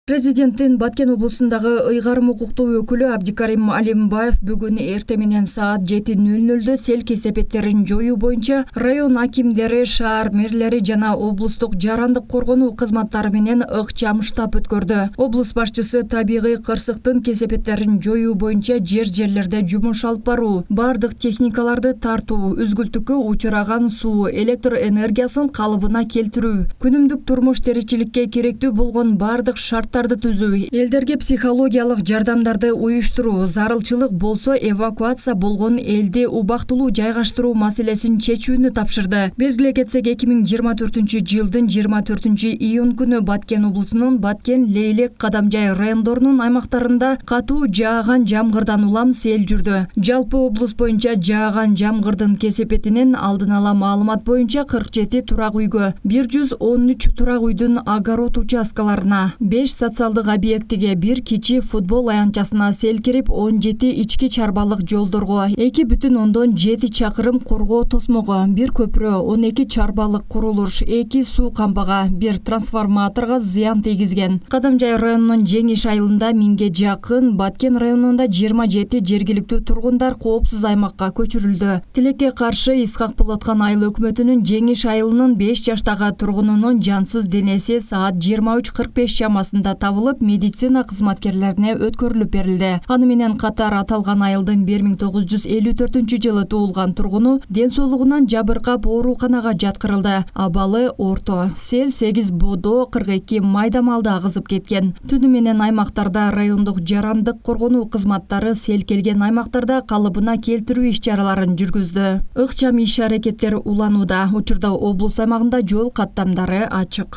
Президенттин Баткен облусундагы ыйгарым укуктуу өкүлү Абдикарим Алимбаев бүгүн эрте менен саат 7:00 сел кесепеттерин жоюу боюнча район акимдери, шаар мэрлери жана облустук жарандык коргонуу кызматтары менен ыкчам штаб өткөрдү. Облус башчысы табигый кырсыктын кесепеттерин жоюу боюнча жерлерде жумуш алып баруу, бардык техникаларды тартуу, үзгүлтүккө учураган суу, электр энергиясын калыбына келтирүү, күнүмдүк турмуш тиричиликке керектүү болгон бардык шарттарды түзүү, элдерге психологиялык жардамдарды уюштуруу, зарылчылык болсо эвакуация болгон элди убактылуу жайгаштыруу маселесин чечүүнү тапшырды. Белгилей кетсек, 2024-жылдын 24-июнь күнү Баткен облусунун Баткен, Лейлек, Кадамжай райондорунун аймактарында катуу жааган жамгырдан улам сел жүрдү. Жалпы облус боюнча жааган жамгырдын кесепетинин алдын ала маалымат боюнча 47 турак үйгө, 113 турак үйдүн огород участкаларына, 5 социалдык объектиге, 1 кичи футбол аянтчасына сел кирип, 17 ички чарбалык жолдорго, 2,7 чакырым коргоо тосмого, 1 көпүрө, 12 чарбалык курулуш, 2 суу камбага, 1 трансформаторго зыян тийгизген. Кадамжай районунун Жеңиш айылында 1000ге жакын, Баткен районунда 27 жергиликтүү тургундар коопсуз аймакка көчүрүлдү. Тилекке каршы Исхак Болоткан айыл өкмөтүнүн Жеңиш айылынын 5 жаштагы тургунунун жансыз денеси саат 23:45 чамасында табылып, медицина кызматкерлерине өткөрүлүп берилди. Аны менен катар аталган айылдын 1954-жылы туулган тургуну ден соолугунан жабыркап ооруканага жаткырылды. Абалы орто. Сел 8 бодо 42 майда малды агызып кеткен. Түнү менен аймактарда райондук жарандык коргонуу кызматтары сел келген аймактарда калыбына келтирүү иш-чараларын жүргүздү. Ыкчам иш-аракеттер уланууда. Учурда облус аймагында жол каттамдары ачык.